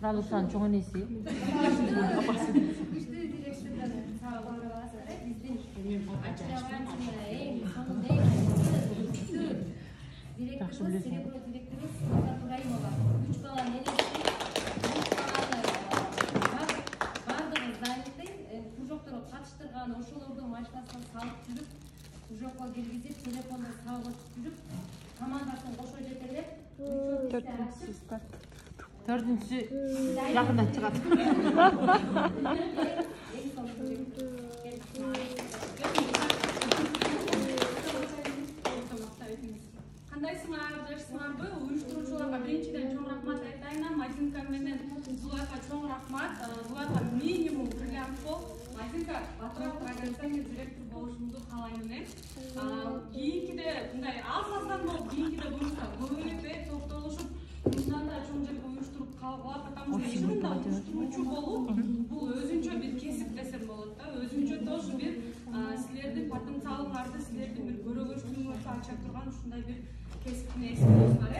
Радушан чоң энеси. Катыштырган ошолордун машинасына салып жүрүп, жокко киргизип, телефонду сабып жүрүп, командасын кошо жетелеп, 4-сү жакында чыгат. Кандайсыңар, жакшысыңарбы? Уюштуруучуларга биринчиден чоң рахмат айтайын. Мазинка менен Зулайка чоң рахмат. Зулайка минимум бриллиант бол. Мазинка батыраак программист директор болушумду каалайм мен. Кийинкиде мындай аз-аздан болуп, кийинкиде буюрса көбүрөөк топтолушуп, мындан да чоң жерге уюштуруп калгыла, потому что чынында уюштуруучу болуу бул өзүнчө бир кесип десем болот да. Өзүнчө тоже бир силердин потенциалыңарды, силердин бир көрөгөчтүгүңөрдү ача турган ушундай бир кесиптин ээси болсуңар,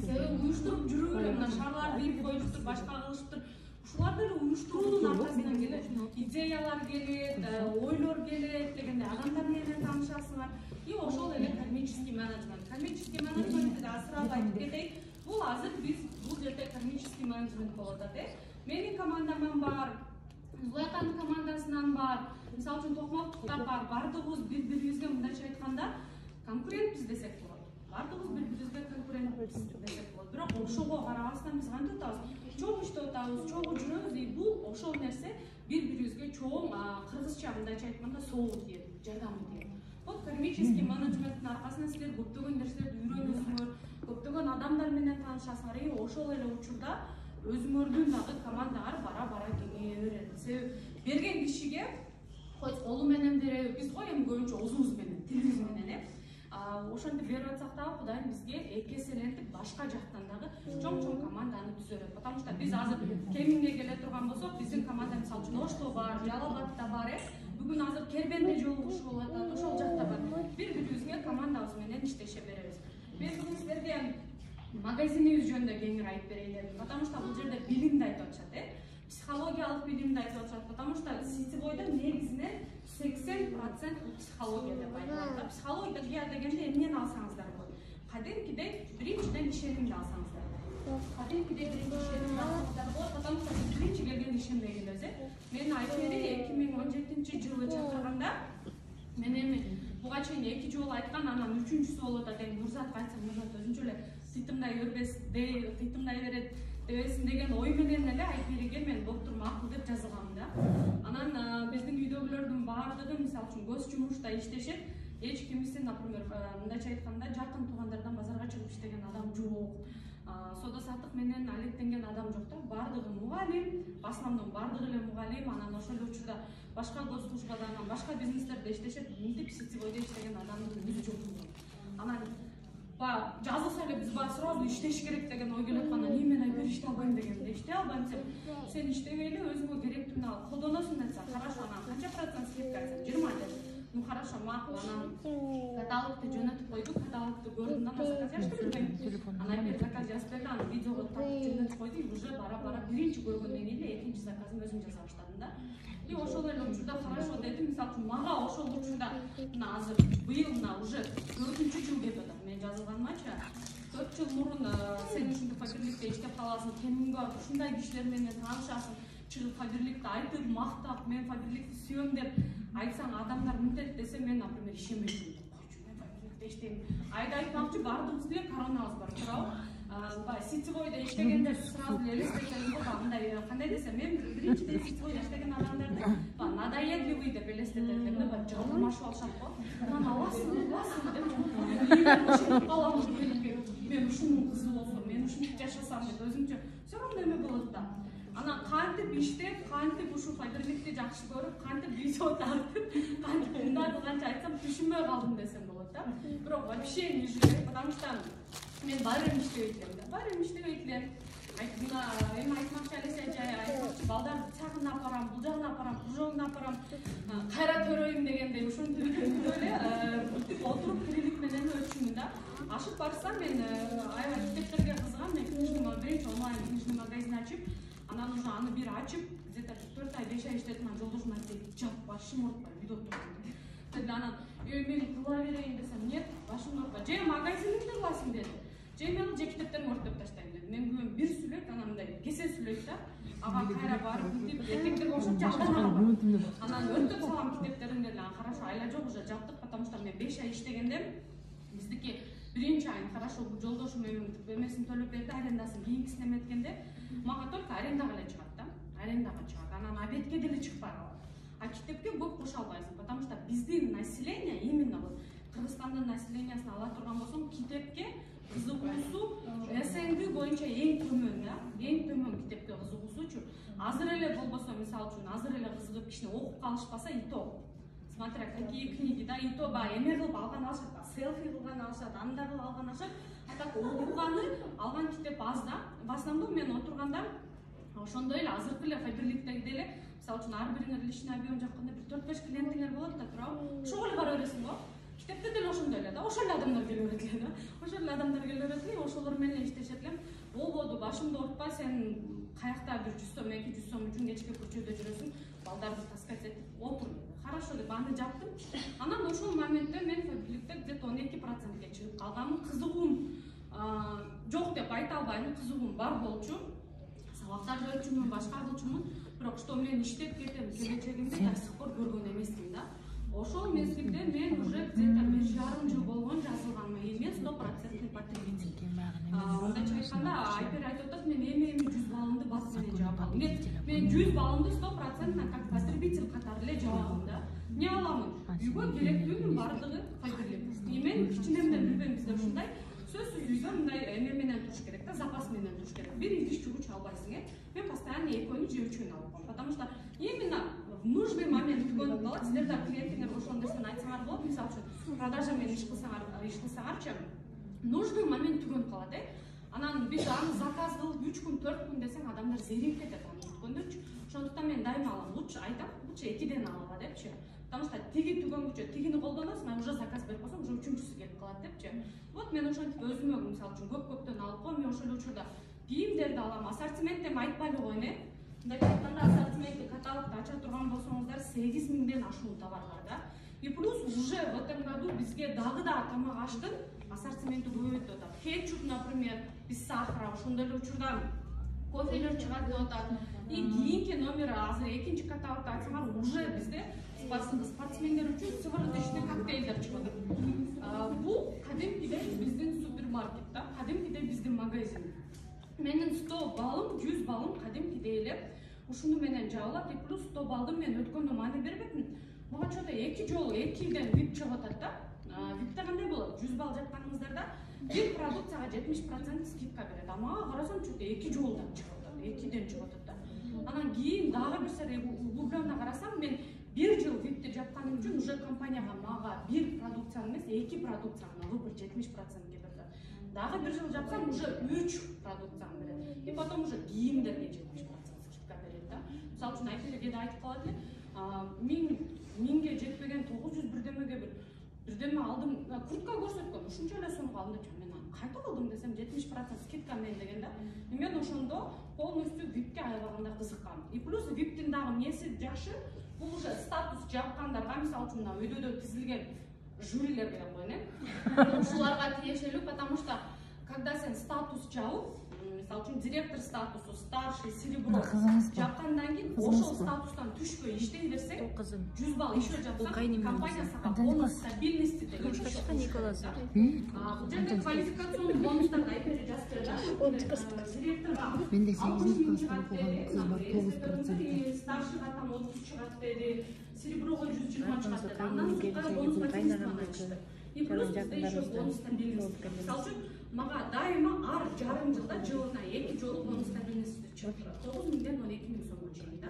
себеби уюштуруп жүрүү эле мына шарларды ийип коюшуптур, башка кылышыптыр. Ушулар деле уюштуруунун аркасынан келет. Идеялар келет, ойлор келет дегенде адамдар менен таанышасыңар. И ошол эле кармический менеджмент. Кармический менеджментти да асырап айтып кетейин. Бул азыр биз бул жерде кармический менеджмент болуп атат. Менин командаман бар, Зулайканын командасынан бар, мисалы үчүн Токмоктукта бар, бардыгыбыз бири-бирибизге мындайча айтканда конкурентпиз десек болот. Бардыгыбыз бири-бирибизге конкурентпиз десек болот. Бирок ошого карабастан биз кантип атабыз? Чоң иштеп атабыз, чоң жүрөбүз. Бул ошол нерсе бири-бирибизге чоң кыргызча мындайча айтканда соолу тиет, жардамы тиет. Вот кармический менеджменттин аркасынан силер көптөгөн нерселерди үйрөнөсүңөр, көптөгөн адамдар менен таанышасыңар. Ошол эле учурда өзүңөрдүн дагы командаңар бара-бара кеңейе берет. Себеби берген кишиге хоть колу менен береби, биз го эми көбүнчө оозубуз менен, тилибиз менен ошентип берип атсак дагы Кудайым бизге эки эселентип башка жактан дагы чоң-чоң команданы түзө берет. Потому что биз азыр Кеминге келе турган болсок, биздин команда мисалы үчүн Ошто бар, Жалал Абадта бар, бүгүн азыр Кербенде жолугушуу болуп атат, ошол жакта бар. Бири-бирибизге командабыз менен иштеше беребиз. Мен бүгүн силерге магазинибиз жөнүндө кеңири айтып берейин дедим. Потому что бул жерде билимди айтып атышат, психологиялык билимди айтып атышат. Потому что сетевойдо негизинен 80% психология деп айтылат. Психология дегенде эмнени алсаңыздар болот? Кадимкидей биринчиден ишенимди алсаңыздар болот. Кадимкидей биринчи ишенимди алсаңыздар болот, потому что биринчи келген ишенбегенбиз. Мен Айфери 2017-жылы чакырганда мен эми буга чейин 2 жолу айткан, анан 3-үчүсү болуп атат. Мурзатка айтсам, Мурзат өзүнчө эле тыйтымдай бербес, тыйтымдай берет дебесин деген ой менен эле Айфериге мен доктор макул деп жазылгам да. Анан биздин үйдөгүлөрдүн баардыгы мисалы үчүн көз жумушта иштешет. Эч кимисин, например, мындайча айтканда, жакын туугандардан базарга чыгып иштеген адам жок. Соода саттык менен алектенген адам жок да. Бардыгы мугалим, в основном бардыгы эле мугалим, анан ошол учурда башка госслужбада, анан башка бизнестерде иштешет. Мынтип сетевойдо иштеген адамдын өзү жок. Анан жазылса эле биз баары сразу иштеш керек деген ой келип атканда, мен Айфер иштей албайм дегенде, иштей албайм десем, сен иштебей эле өзүңө керектүүнү алып колдоносуң десе, хорошо, анан канча процент скидка айтсам, 20 деп. Ну хорошо, макул, анан каталогду жөнөтүп койду, каталогду көрдүм да, заказ жазып бербейм. Анан Айфер заказ жазып берди, анан видеого тартып жөнөтүп койду, уже бара-бара биринчи көргөндөн кийин эле экинчи заказым өзүм жаза баштадым да. И ошол эле учурда хорошо дедим, мисалы үчүн мага ошол учурда мына азыр быйыл мына уже 4-жыл кетип атат. Мен жазылганымча 4 жыл мурун сен ушундай фаберликте иштеп каласың, Кеминге ушундай кишилер менен таанышасың, чыгып фаберликти айтып, мактап, мен фаберликти сүйөм деп айтсаң, адамдар мынтет десе, мен, например, ишенбейм. Койчу, мен фаберликте иштейм. Айда айтмакчы, бардыгыбыз деле коронабыз бар, туурабы? Сетевойдо иштегенде сразу эле элестетемин го, мындай кандай десем, мен биринчиден сетевойдо иштеген адамдарды надоедливый деп элестетет элем да, жалпымашып алышат го. Анан аласың деп калам. Мен ушунун кызы болсом, мен ушинтип жашасам деп өзүмчө все равно эме болот да. Анан кантип иштеп, кантип ушул фаберликти жакшы көрүп, кантип видео тартып, кантип мындайды канча айтсам түшүнбөй калдым десем болот да. Бирок вообще не жүрөт, потому что мен байрам иштебейт элем да. Байрам иштебейт элем. Мына эми айтмакчы Алеся жай айтмакчы, балдарды тагына апарам, бул жагына апарам, бул жагына апарам, кайра төрөйм дегендей ушинтип эле отуруп тирилик менен өтчүмүн да. Ашып барсам мен аябай китептерге кызыгам, мен книжный биринчи онлайн книжный магазин ачып, анан уже аны бир ачып, где-то 4 ай 5 ай иштеттим, анан жолдошум айтты, "Жап, башым оорутпай, үйдө отуруп." Деди анан, "Мен кыла берейин" десем, "Нет, башым оорутпай. Же магазиниңди кыласың" деди. "Же мен же китептеримди өртөп таштайм" деди. Мен күнүнө бир сүйлөйт, анан мындай кесе сүйлөйт да. Ага кайра барып бүтүп, эркектерге окшоп жактырам. Анан өртөп салам китептеримди деди. Анан хорошо, айла жок, уже жаптык, потому что мен 5 ай иштегендем. Биздики биринчи айын хорошо жолдошум эмесин төлөп берди, арендасын кийинкисине эметкенде, мага только арендага эле чыгат да. Арендага чыгат. Анан обедке деле чыкпай калат. А китепке көп кошо албайсың, потому что биздин население, именно вот Кыргызстандын населениясын ала турган болсоң, китепке кызыгуусу СНГ боюнча эң төмөн да. Эң төмөн китепке кызыгуусучу. Азыр эле болбосо, мисалы үчүн, азыр эле кызыгып кичине окуп калышпаса, и то. Смотря какие книги, да, и то эме кылып алган алышат, селфи кылган алышат, анда кылып алган алышат. А так окуганы, алган китеп аз да. В основном мен отурганда ошондой эле азыркы эле Фаберликтеги эле, мисалы үчүн ар бириңер личный объем жакканда бир 4-5 клиентиңер болот да, туурабы? Ошого эле бара бересиң го. Китепте деле ошондой эле да, ошол эле адамдар келе берет эле да. Ошол эле адамдар келе берет эле, ошолор менен иштешет элем. Болбоду, башымды оорутпа, сен каякта бир 100 сом, 200 сом үчүн кечке көчөдө жүрөсүң, балдарды таскать этип отур деди. Хорошо деп аны жаптым. Анан ошол моментте мен Фаберликте где-то 12%ге чыгып калганмын. Кызыгуум жок деп айта албайм, кызыгуум бар болчу. Сабактар көрчүмүн, башка кылчумун, бирок что мен иштеп кетем, келечегимди до сих пор көргөн эмесмин да. Ошол мезгилде мен уже где-то 1,5 жыл болгон жазылганмын, и мен 100% потребитель. Мындайча айтканда, Айпер айтып атат, мен эми 100 баллымды бас менен жаап алдым. Мен 100 баллымды 100% как потребитель катары эле жаабым да. Эмне аламын? Үйгө керектүүнүн бардыгы Фаберлик. Мен кичинемден билбейм, бизде ушундай сөзсүз үйгө мындай эме менен туруш керек да, запас менен туруш керек. Бир идиш жуугуч албайсың, Мен постоянно экөөнү же үчөөнү алып коем, потому что именно в нужный момент түгөнүп калат. Силер да клиентиңерге ошондой нерсени айтсаңар болот. Мисалы үчүн, продажа менен иш кылсаңарчы, нужный момент түгөнүп калат, Анан биз аны заказ кылып 3 күн, 4 күн десең, адамдар зерип кетет аны күткөндөрчү. Ошондуктан мен дайыма алам, лучше айтам, лучше 2ден алгыла депчи. Потому что тиги түгөнгүчө, тигини колдоносуң, мен уже заказ берип койсом, уже үчүнчүсү келип калат депчи. Вот мен ошентип өзүмө, мисалы үчүн, көптөн алып коем, мен ошол учурда кийимдерди алам, ассортимент эми айтпай эле коеюн, Мындай айтканда ассортиментти каталогду ача турган болсоңуздар 8000ден ашуун товар бар да. И плюс уже в этом году бизге дагы да тамак аштын ассортименти көбөйтүп атат. Кетчуп, например, без сахара, ошондой эле учурда кофелер чыгат деп атат. И кийинки номер азыр экинчи каталогду ачсаңар, уже бизде спортсмендер үчүн сывороточный коктейлдер чыгып атат. Бул кадимкидей биздин супермаркет да, кадимкидей биздин магазин. Менин 100 балым, 100 балым кадимкидей эле ушуну менен жабылат. И плюс 100 балды мен өткөндө маани бербепмин. Мага чода 2 жолу 2ден VIP чыгып атат да. VIPте кандай болот? 100 балл жапканыңыздарда бир продукцияга 70% скидка берет. А мага карасам чода 2 жолдан чыгып атат, 2ден чыгып атат да. Анан кийин дагы бир сер углубленно карасам, мен 1 жыл VIPте жапканым үчүн уже компанияга мага бир продукцияны эмес, 2 продукцияны выбор 70%ге берди. Дагы 1 жыл жапсам, уже 3 продукцияны берет. И потом уже кийимдерге 70% скидка берет да. Мисалы үчүн Айпелге да айтып калат эле, 1000ге жетпеген 900 бирдемеге бирдеме алдым, куртка көрсөткөн, ушунча эле сомго алдым деп, мен аны кайда алдым десем 70% скидка менен деген да. Мен ошондо полностью VIPке аябаганда кызыккам. И плюс VIPтин дагы эмеси жакшы, бул уже статус жапкандарга, мисалы үчүн өйдөдө тизилген жюрилер деп коеюн, ушуларга тиешелүү, потому что когда сен статус жабып, мисалы үчүн директор статусу, старший, серебро жапкандан кийин ошол статустан түшпөй иштей берсең, 100 балл ишөө жапсаң, компания сага бонус стабильности деген Николаса. Бул жерде квалификационный бонустарды Айпер жазып берет. Директорго мен де 8 класста окуган кыз бар, 9%. Старшийга там 30 чыгат деди, сереброго 120 чыгат деди. Андан сырткары бонус пакетini ачты. И плюс бизде ещё бонус стабильности. Мисалы үчүн, мага дайыма ар жарым жылда жылына 2 жолу бонус стабильности чыгып турат. 9000ден 12000 сомго чейин да.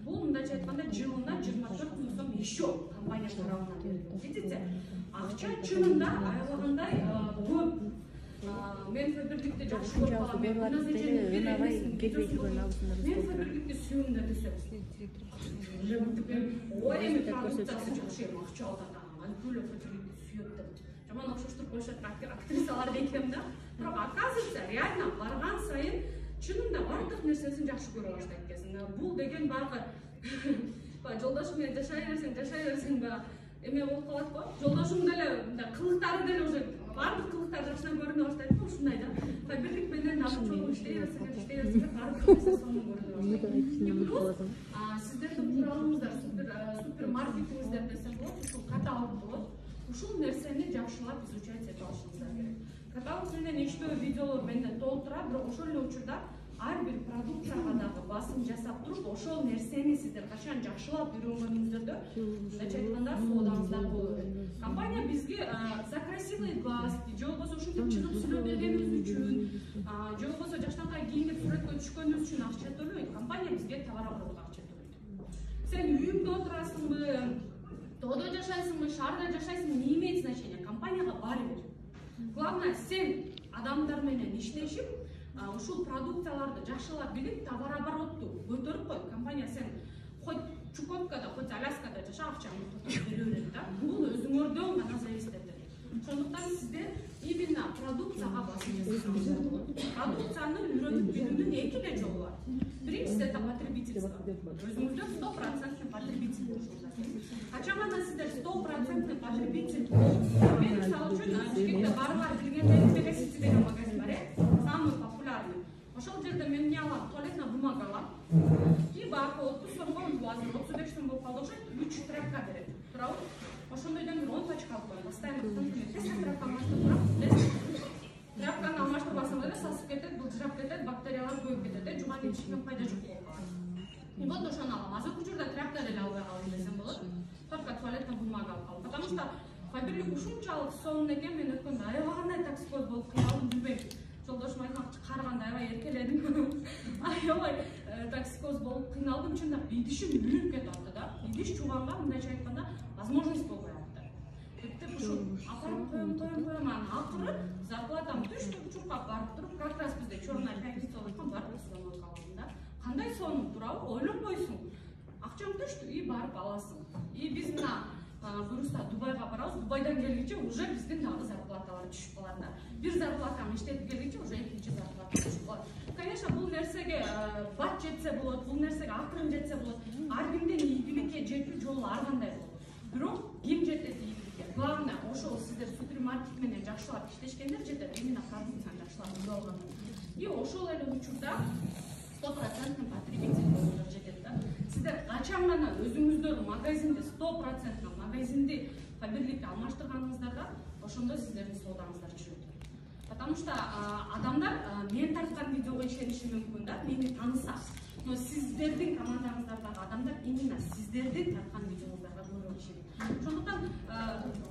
Бул мындайча айтканда жылына 24 000 сом ещё компания тарабынан берилет. Видите? Акча чынында аябагандай көп. Мен Фаберликте жакшы көрүп калам. Мен Фаберликти сүйөм да десем. Ой, эми продукциясы жакшы, акча алат. Алкөл Фаберликти сүйөт деп. жаман окшоштуруп коюшат актрисалар экен да. Бирок оказывается реально барган сайын чынында бардык нерсесин жакшы көрө баштайт экенсиң. Бул деген баягы жолдошуң менен жашай берсең баягы эме болуп калат го. Жолдошуң деле мындай кылыктары деле уже бардык кылыктары жакшынан көрүнө баштайт го. Ушундай да. Бирлик менен дагы чогуу иштей берсек бардык нерсе сонун көрүнө баштайт. Сиздердин куралыңыздар супер маркетингиңиздер десем болот, ушул каталог болот. Ушул нерсени жакшылап изучать этип алышыңыздар керек. Каталог менен иштөө видеолор менде толтура, бирок ошол эле учурда ар бир продукцияга дагы басым жасап туруп, ошол нерсени сиздер качан жакшылап үйрөнгөнүңүздөрдө, мындайча айтканда, соодаңыздар болот. Компания бизге за красивый глаз, же болбосо ушинтип чыгып сүйлөп бергенибиз үчүн, же болбосо жаштанкай кийинип сүрөткө түшкөнүбүз үчүн акча төлөбөйт. Компания бизге товар оборотко акча төлөйт. Сен үйүңдө отурасыңбы, тоодо жашайсыңбы, шаарда жашайсыңбы, не имеет значения. Компанияга баары бир. Главное, сен адамдар менен иштешип, ушул продукцияларды жакшылап билип, товар оборотту көтөрүп кой. Компания сен хоть Чукоткада, хоть Аляскада жаша, акчаңды көтөрүп бере берет да. Бул өзүңөрдөн гана зависит этет. Ошондуктан сиздер именно продукцияга басым жасасаңыздар болот. Продукцияны үйрөнүп билүүнүн эки эле жолу бар. Биринчиси это потребительство. Өзүңүздөр 100% потребитель болушуңуздар керек. Качан гана сиздер 100% потребитель болуп, мен мисалы үчүн Бишкекте баарыңар билгендей Белесити деген магазин бар, самый популярный. Ошол жерде мен эмне алам? Туалетная бумага алам. И баягы 30 сомго, азыр 35 сом болуп калды окшойт, 3 тряпка берет. Туурабы? Ошондойдон бир 10 пачка алып коем. Постоянно тряпка алмаштырып турам. Тряпканы алмаштырбасаң деле сасып кетет, былжырап кетет, бактериялар көбөйүп кетет, жууган ичинден пайда жок болуп калат. И вот ошону алам. Азыркы учурда тряпка деле албай калдым десем болот. Только туалетная бумага алып калдым. Потому что Фаберлик ушунчалык сонун экен, мен өткөндө аябай кандай токсикоз болуп кыйналдым, билбейм. Жолдошум айткан караганда аябай эркеледим. Аябай токсикоз болуп кыйналдым, чындап идишим үйрөнүп кетип да. Идиш чууганга мындайча айтканда возможность болбой атты. Эптеп ушул апарып коем, анан акыры зарплатам түштү, чуркап барып туруп, как раз бизде черная пятница болуп аткан, барып сонун калдым да. Кандай сонун туурабы? Ойлонбойсуң. Акчаң түштү, и барып аласың. И биз мына буюрса Дубайга барабыз. Дубайдан келгиче уже биздин дагы зарплаталар түшүп калат да. Бир зарплатаны иштетип келгиче уже экинчи зарплата түшүп калат. Конечно, бул нерсеге бат жетсе болот, бул нерсеге акырын жетсе болот. Ар кимдин ийгиликке жетүү жолу ар кандай болот. Бирок ким жетет ийгиликке? Главное, ошол сиздер супермаркет менен жакшылап иштешкендер жетет, именно продукцияны жакшылап билип алгандар. И ошол эле учурда 100% потребитель болууңуздар жетет да. Сиздер качан гана өзүңүздөр магазинде 100% магазинди Фаберликке алмаштырганыңыздар да, ошондо сиздердин соодаңыздар жүрөт. Потому что адамдар мен тарткан видеого ишениши мүмкүн да, мени тааныса. Но сиздердин командаңыздардагы адамдар именно сиздердин тарткан видеоңуздарга көрүп ишенет. Ошондуктан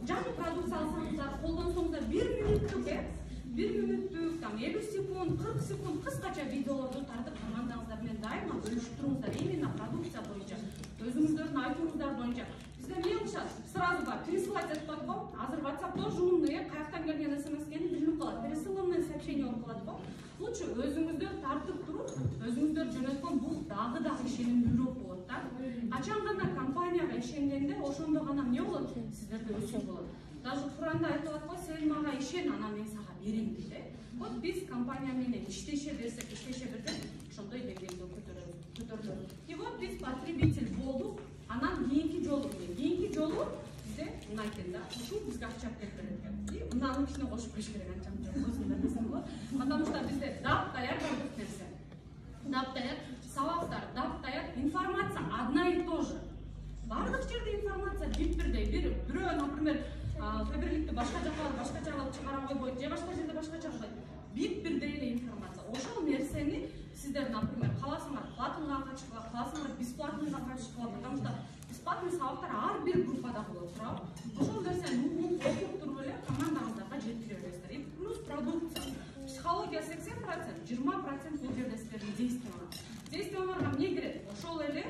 жаңы продукция алсаңыздар, колдонсоңуздар 1 мүнөттүк 1 мүнөттүк, 50 секунд, 40 секунд кыскача видеолорду тартып командаңыздар менен дайыма бөлүшүп туруңуздар. Именно продукция боюнча, өзүңүздөрдүн айтууңуздар боюнча. Бизде эмне кылышат? Сразу бар, пересылать этип коет го. Азыр WhatsApp тоже умный, каяктан келген смс экени билинип калат. Пересыланный сообщение болуп калат го. Лучше өзүңүздөр тартып туруп, өзүңүздөр жөнөткөн бул дагы ишенимдүүрөөк болот да. Качан гана компанияга ишенгенде, ошондо гана эмне болот? Сиздерде өсүү болот. Даже Куранда айтылат го, сен мага ишен, анан мен сага берем дейт. Вот биз компания менен иштеше берсек, ошондой деңгээлге көтөрүлөт. И вот биз потребитель болдук, анан кийинки жолу бизде мына экен да, ушул бизге акча алып келип берет экен. И мынанын ичине кошуп коюш керек анча өзүңөр десем болот. Потому что бизде дап-даяр бардык нерсе. Дап-даяр сабактар, дап-даяр информация одна и то же. Бардык жерде информация бир-бирдей. Бирөө, например, Фаберликти башка жакка алып чыгара койбойт, же башка жерде башкача кылат. Бир-бирдей эле информация. Ошол нерсени сиздер, например, кааласаңар платныйга катышкыла, кааласаңар бесплатныйга катышкыла, потому что бесплатный сабактар ар бир группада болот, туурабы? Ошол нерсени окуп туруп эле командаңыздарга жеткире бересиздер. И плюс продукция. Психология 80%, 20% бул жерде сиздердин действиялар. Действияларга эмне кирет? Ошол эле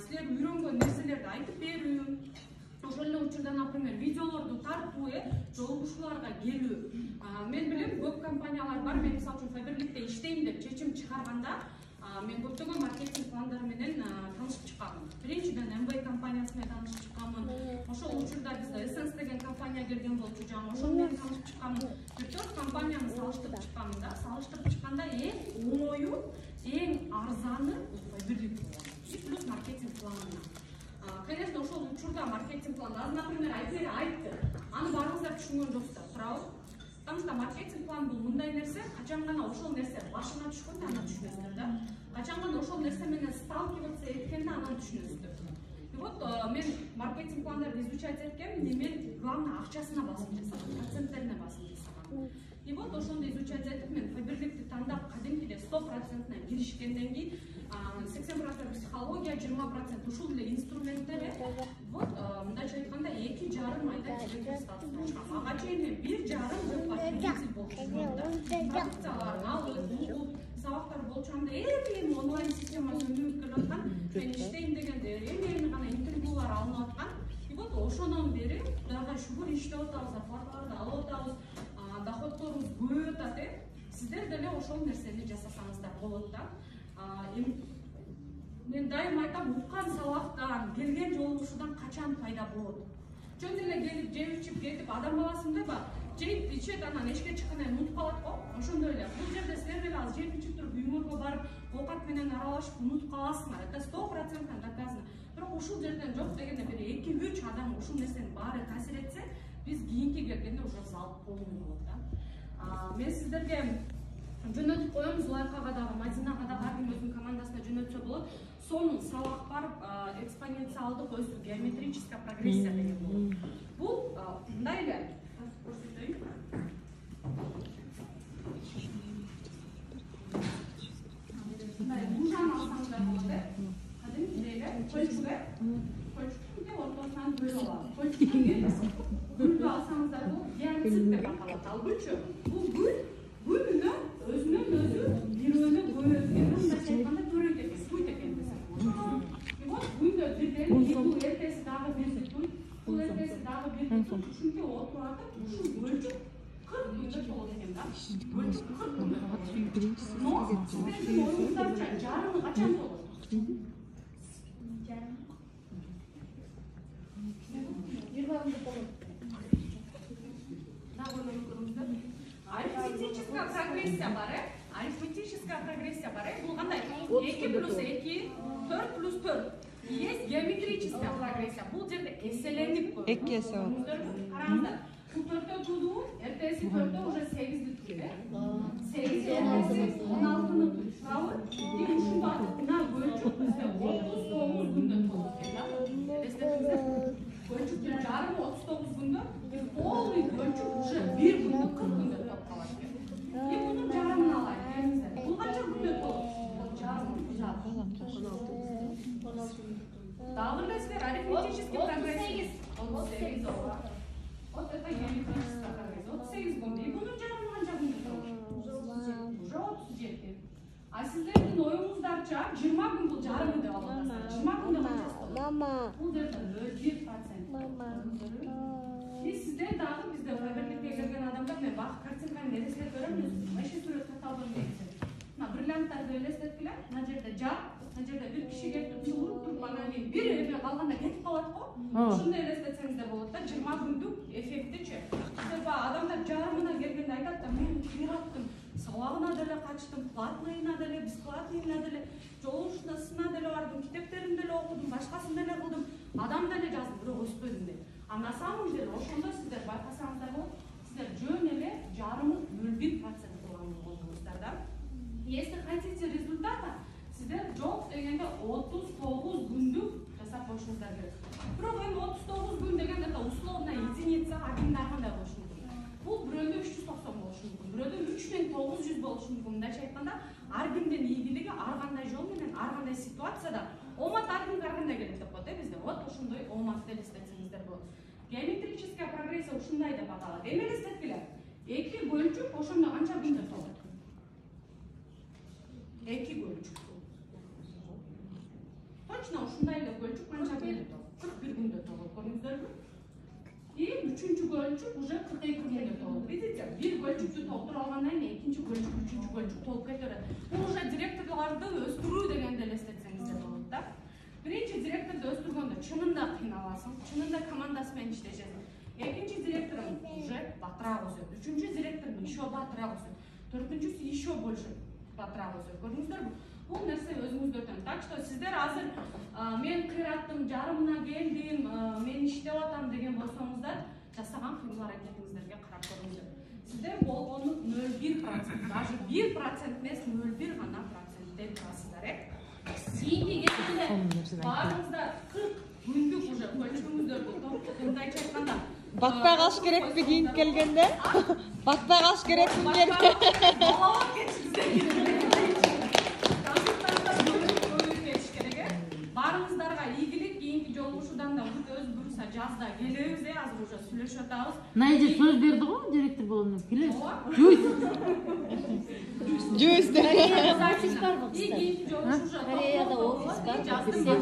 силер үйрөнгөн нерселерди айтып берүү. Ошол эле учурда, например, видеолорду тартуу, жолугушууларга келүү. Мен билем, көп компаниялар бар. Мен мисалы үчүн Фаберликте иштейм деп чечим чыгарганда, мен көптөгөн маркетинг пландары менен таанышып чыкканмын. Биринчиден MV компаниясы менен таанышып чыкканмын. Ошол учурда бизде Essence деген компания компания келген болчу, жаңы ошол менен салыштырып чыкканмын. 4 компанияны салыштырып чыкканмын да. Салыштырып чыкканда эң оңою, эң арзаны Файберлик плюс маркетинг планы. Конечно, ошол учурда маркетинг планы, например, айтты. Аны баарыңыздар түшүнгөн жоксуздар, туурабы? Потому что маркетинг план бул мындай нерсе, качан гана ошол нерсе башына түшкөндө аны түшүнөсүздөр да. Качан гана ошол нерсе менен сталкиваться эткенде аны түшүнөсүздөр. И вот мен маркетинг пландарды изучать эткем, мен главное акчасына басым жасагам, проценттерине басым жасагам. И вот ошондо изучать этип мен Файберликти тандап кадимкиде 100% киришкенден кийин 80% психология, 20% ушул эле инструменттер. Вот мындайча айтканда 2,5 айда директор статусуна чыккам. Ага чейин мен 1,5 жыл потребитель болчумун да. Продукцияларын алып, угуп, сабактар болчумда эми онлайн системасы өнүгүп келаткан. Мен иштейм дегенде эми гана интервьюлар алынып аткан. И вот ошондон бери Кудайга шүгүр иштеп атабыз, зарплаталарды алып атабыз, доходторубуз көбөйүп атат. Сиздер деле ошол нерсени жасасаңыздар болот да. Мен дайым айтам, уккан сабактан, келген жолугушуудан качан пайда болот? Жөн эле келип, жеп ичип кетип, адам баласындайбы? Жейт, ичет, анан эшикке чыккандан кийин унутуп калат го. Ошондой эле. Бул жерде силер деле азыр жеп ичип туруп, үйүңөргө барып, оокат менен аралашып унутуп каласыңар. Это 100% доказано. Бирок ушул жерден жок дегенде бир 2-3 адам ушул нерсенин баары таасир этсе, биз кийинки келгенде уже залып полный болот да. Мен сиздерге жөнөтүп коем, Зулайкага дагы, Мадинага дагы ар ким өзүнүн командасына жөнөтсө болот. Сонун сабак бар, экспоненциалдык өсүү, геометрическая прогрессия деген болот. Бул мындай эле. Мындай лужаны алсаңыздар болот э. Кадимки эле көлчүгө, көлчүктү ортосунан бөлүп алабыз. Көлчүктү гүлдү алсаңыздар болот, геоцит деп аталат. Ал гүлчү, бул гүлүнө өзүнөн өзү бирөөнү көбөйөт экен, мындайча айтканда төрөйт экен, туйт экен десек болот. И вот гүлдө бирден бул эртеси дагы бирди туйт, бул эртеси дагы бирди туйт. Ушинтип отуруп атып, ушул көлчүк 40 күндө болот экен да. Көлчүк 40 күндө болот. Но сиздердин оюңуздарча жарымы качан болот? Арифметическая прогрессия бар, арифметическая прогрессия бар. Бул кандай? 2 плюс 2, 4 плюс 4. Есть геометрическая прогрессия. Бул жерде эселенип көрүнөт. 2 эсе болот. Караңыздар. Бул 4тө туудуу, эртеси 4тө уже 8ди тууду. 8 эртеси 16ны тууду. Туурабы? И ушунда мына көлчүк бизде 39 күндө толот экен да. Эстетиңиздер. Көлчүктүн жарымы 39 күндө, полный көлчүк уже 1 күндө 40 күндө толуп калат экен. И мунун жарымын алайын, келиңиздер. Бул канча күндө толот? Жарымы. Дагы билесиздер, арифметический прогрессия. 38 ооба. Вот это геометрическая прогрессия. 38 күндө. И мунун жарымы канча күндө толот? Уже 37. А сиздердин оюңуздарча 20 күн бул жарымы деп алып атасыздар. 20 күндө канчасы болот? Мама. Бул жерде 1%. Мама. И сиздер дагы бизде Файберликке келген адамдар мен бак картинканы элестетип берем. Эши сүрөт каталган дейсиз. Мына бриллианттарды элестеткиле. Мына жерде жар, мына жерде бир киши келип уруп туруп анан кийин бир эме калганда кетип калат го. Ошондой элестетсеңиздер болот да, 20 күндүк эффектичи. Сиздер адамдар жарымына келгенде айтат да, мен кыйраттым. Сабагына деле качтым, платныйына деле, бесплатныйына деле, жолугушуусуна деле бардым, китептерин деле окудум, башкасын деле кылдым, адам деле жаздым, бирок өспөдүм деп. А на самом деле ошондо сиздер байкасаңыздар болот, сиздер жөн эле жарымы 0,1% болгон болдуңуздар да. Если хотите результата, сиздер жок дегенде 39 күндүк жасап коюшуңуздар керек. Бирок эми 39 күн дегенде да условно единица, кимде кандай болушу мүмкүн. Бул бирөөдө 390 болушу мүмкүн, бирөөдө 3900 болушу мүмкүн. Мындайча айтканда, ар кимдин ийгилиги ар кандай жол менен, ар кандай ситуацияда омат ар кимге ар кандай келет деп коет бизде. Вот ошондой оматты элестетсеңиздер болот. Геометрическая прогрессия ушундай деп аталат. Эми элестеткиле. 2 көлчүк ошондо канча күндө толот? 2 көлчүк. Точно ушундай эле көлчүк канча күндө толот? 41 күндө толот. Көрдүңүздөрбү? И 3-чү көлчүк уже 42 күндө толот. Видите? Бир көлчүктү толтуруп алгандан кийин экинчи көлчүк, үчүнчү көлчүк толуп кете берет. Бул уже директорлорду өстүрүү дегенди элестетсеңиздер болот да. Биринчи директорду өстүргөндө чынында кыйналасың, чынында командасы менен иштешесиң. Экинчи директорум уже батыраак өсөт. Үчүнчү директорум еще батыраак өсөт. Төртүнчүсү еще больше батыраак өсөт. Көрдүңүздөрбү? Бул нерсе өзүңүздөрдөн. Так что сиздер азыр мен кыйраттым, жарымына келдим, мен иштеп атам деген болсоңуздар, жасаган кыймыл аракетиңиздерге карап көрүңүздөр. Сиздер болгону 0,1%, даже 1% эмес, 0,1 гана процентте турасыздар, Кийинки кезинде баарыңыздар 40 күндүк уже көлчөгүңүздөрдү мындайча айтканда батпай калыш керекпи кийинки келгенде? Батпай калыш керекпи баарыңыздарга ийгилик, кийинки жолугушуудан да өз буюрса жазда келебиз, азыр уже сүйлөшүп атабыз. Найжа сөз берди го, директор болгондон келебиз. Жуйс деп. Кореяда офис барбы кыздар? Кийинки жолугушуу Кореяда офис бар.